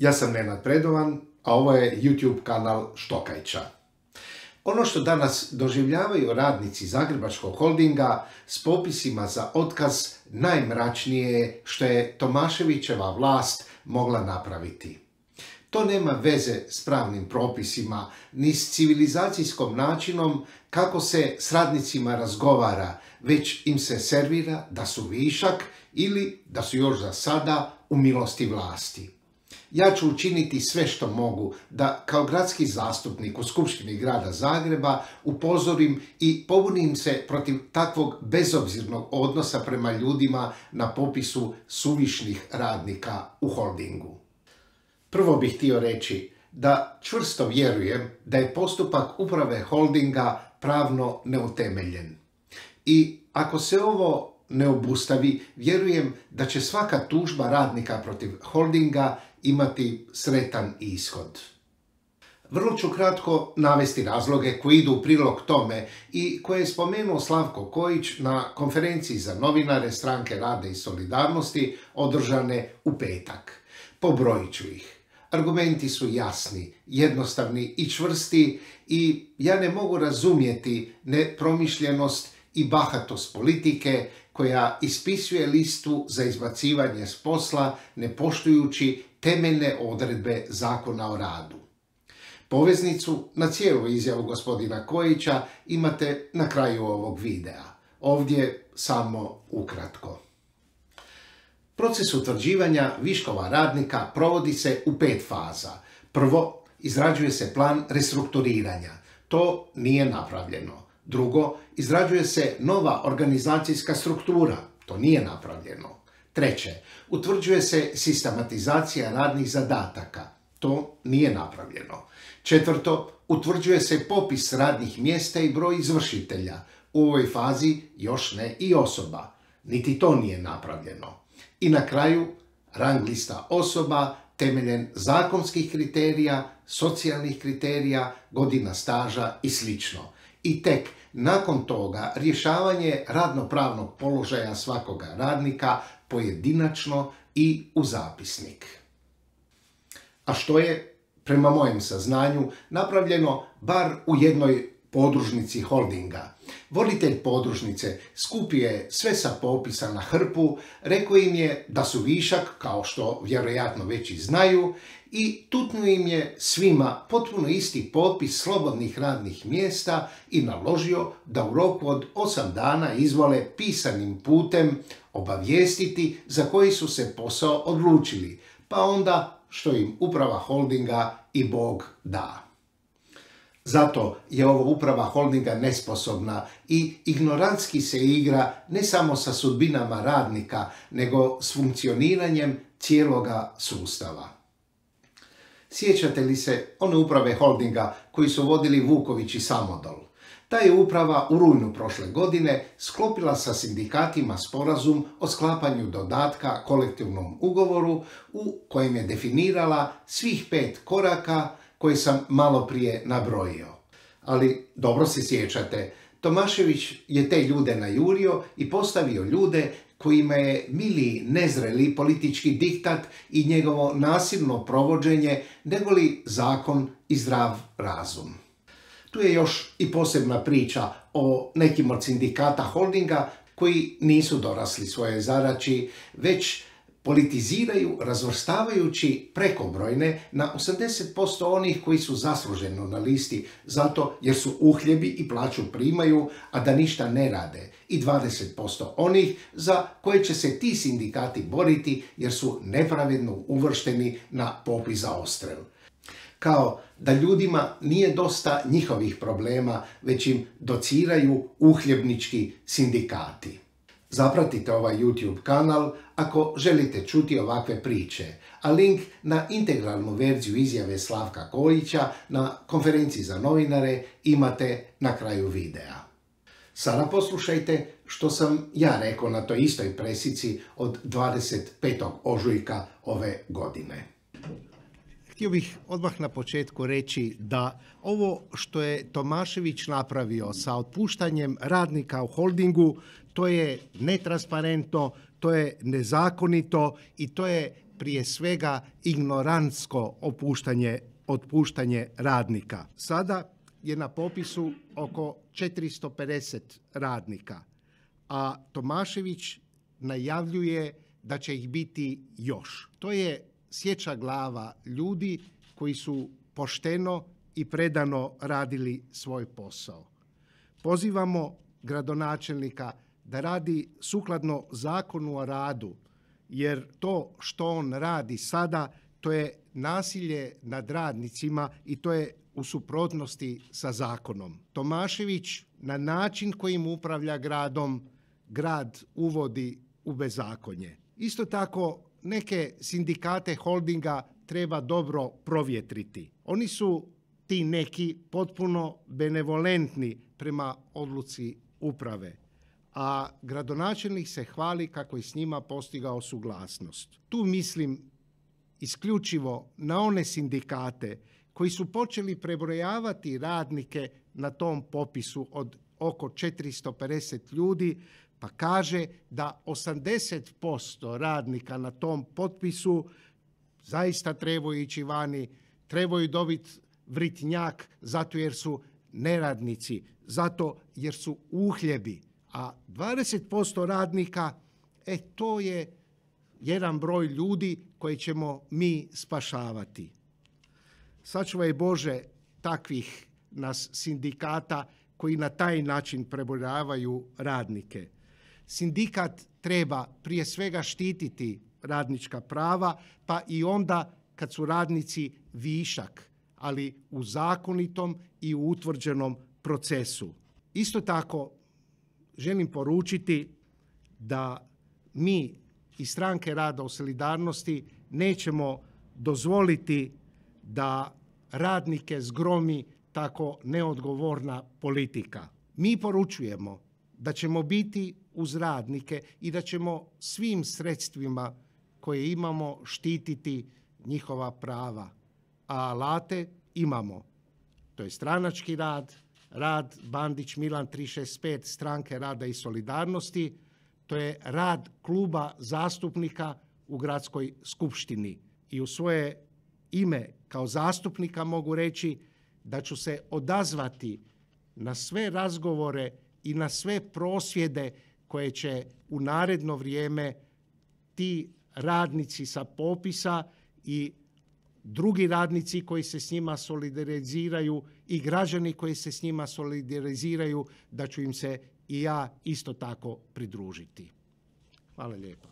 Ja sam Nenad Predovan, a ovo je YouTube kanal Štokajča. Ono što danas doživljavaju radnici Zagrebačkog holdinga s popisima za otkaz najmračnije je što je Tomaševićeva vlast mogla napraviti. To nema veze s pravnim propisima, ni s civilizacijskom načinom kako se s radnicima razgovara, već im se servira da su višak ili da su još za sada u milosti vlasti. Ja ću učiniti sve što mogu da kao gradski zastupnik u Skupštini grada Zagreba upozorim i pobunim se protiv takvog bezobzirnog odnosa prema ljudima na popisu suvišnih radnika u holdingu. Prvo bih htio reći da čvrsto vjerujem da je postupak uprave holdinga pravno neutemeljen. I ako se ovo ne obustavi, vjerujem da će svaka tužba radnika protiv holdinga imati sretan ishod. Vrlo ću kratko navesti razloge koji idu u prilog tome i koje je spomenuo Slavko Kojić na konferenciji za novinare Stranke rada i solidarnosti održane u petak. Pobrojit ću ih. Argumenti su jasni, jednostavni i čvrsti i ja ne mogu razumjeti nepromišljenost i bahatost politike koja ispisuje listu za izbacivanje s posla ne poštujući temeljne odredbe Zakona o radu. Poveznicu na cijelu izjavu gospodina Kojića imate na kraju ovog videa. Ovdje samo ukratko. Proces utvrđivanja viškova radnika provodi se u 5 faza. Prvo, izrađuje se plan restrukturiranja. To nije napravljeno. Drugo, izrađuje se nova organizacijska struktura. To nije napravljeno. Treće, utvrđuje se sistematizacija radnih zadataka. To nije napravljeno. Četvrto, utvrđuje se popis radnih mjesta i broj izvršitelja. U ovoj fazi još ne i osoba. Niti to nije napravljeno. I na kraju, rang lista osoba temeljen zakonskih kriterija, socijalnih kriterija, godina staža i sl. I tek nakon toga rješavanje radnopravnog položaja svakoga radnika pojedinačno i u zapisnik. A što je, prema mojem saznanju, napravljeno bar u jednoj podružnici holdinga. Voditelj podružnice skupio je sve sa popisa na hrpu, rekao im je da su višak, kao što vjerojatno već i znaju, i tutnuo im je svima potpuno isti popis slobodnih radnih mjesta i naložio da u roku od 8 dana izvole pisanim putem obavijestiti za koji su se posao odlučili, pa onda što im uprava holdinga i Bog da. Zato je ova uprava holdinga nesposobna i ignorantski se igra ne samo sa sudbinama radnika, nego s funkcioniranjem cijeloga sustava. Sjećate li se one uprave holdinga koji su vodili Vuković i Samodol? Ta je uprava u rujnu prošle godine sklopila sa sindikatima sporazum o sklapanju dodatka kolektivnom ugovoru u kojem je definirala svih 5 koraka koje sam malo prije nabrojio. Ali dobro se sjećate, Tomašević je te ljude najurio i postavio ljude kojima je miliji nezreli politički diktat i njegovo nasilno provođenje negoli zakon i zdrav razum. Tu je još i posebna priča o nekim od sindikata holdinga koji nisu dorasli svojoj zadaći, već politiziraju razvrstavajući prekobrojne na 80% onih koji su zasluženo na listi zato jer su uhljebi i plaću primaju, a da ništa ne rade, i 20% onih za koje će se ti sindikati boriti jer su nepravedno uvršteni na popis za odstrel. Kao da ljudima nije dosta njihovih problema, već im dociraju uhljebnički sindikati. Zapratite ovaj YouTube kanal ako želite čuti ovakve priče, a link na integralnu verziju izjave Slavka Kojića na konferenciji za novinare imate na kraju videa. Sada poslušajte što sam ja rekao na toj istoj presici od 25. ožujka ove godine. Htio bih odmah na početku reći da ovo što je Tomašević napravio sa otpuštanjem radnika u holdingu, to je netransparentno, to je nezakonito i to je prije svega ignorantsko otpuštanje radnika. Sada je na popisu oko 450 radnika, a Tomašević najavljuje da će ih biti još. To je sječa glava ljudi koji su pošteno i predano radili svoj posao. Pozivamo gradonačelnika da radi sukladno Zakonu o radu, jer to što on radi sada, to je nasilje nad radnicima i to je u suprotnosti sa zakonom. Tomašević na način kojim upravlja gradom, grad uvodi u bezakonje. Isto tako, neke sindikate holdinga treba dobro provjetriti. Oni su ti neki potpuno benevolentni prema odluci uprave, a gradonačelnik se hvali kako je s njima postigao suglasnost. Tu mislim isključivo na one sindikate koji su počeli prebrojavati radnike na tom popisu od oko 450 ljudi, pa kaže da 80% radnika na tom potpisu zaista trebaju ići vani, trebaju dobiti vritnjak zato jer su neradnici, zato jer su uhljebi, a 20% radnika, to je jedan broj ljudi koji ćemo mi spašavati. Sačuvaj Bože takvih nas sindikata koji na taj način prebrojavaju radnike. Sindikat treba prije svega štititi radnička prava, pa i onda kad su radnici višak, ali u zakonitom i u utvrđenom procesu. Isto tako želim poručiti da mi iz Stranke rada u solidarnosti nećemo dozvoliti da radnike zgromi tako neodgovorna politika. Mi poručujemo da ćemo biti uz radnike i da ćemo svim sredstvima koje imamo štititi njihova prava. A alate imamo. To je stranački rad, rad Bandić Milan 365 Stranke rada i solidarnosti, to je rad kluba zastupnika u gradskoj skupštini. I u svoje ime kao zastupnika mogu reći da ću se odazvati na sve razgovore i na sve prosvjede koje će u naredno vrijeme ti radnici sa popisa i drugi radnici koji se s njima solidariziraju i građani koji se s njima solidariziraju, da ću im se i ja isto tako pridružiti. Hvala lijepo.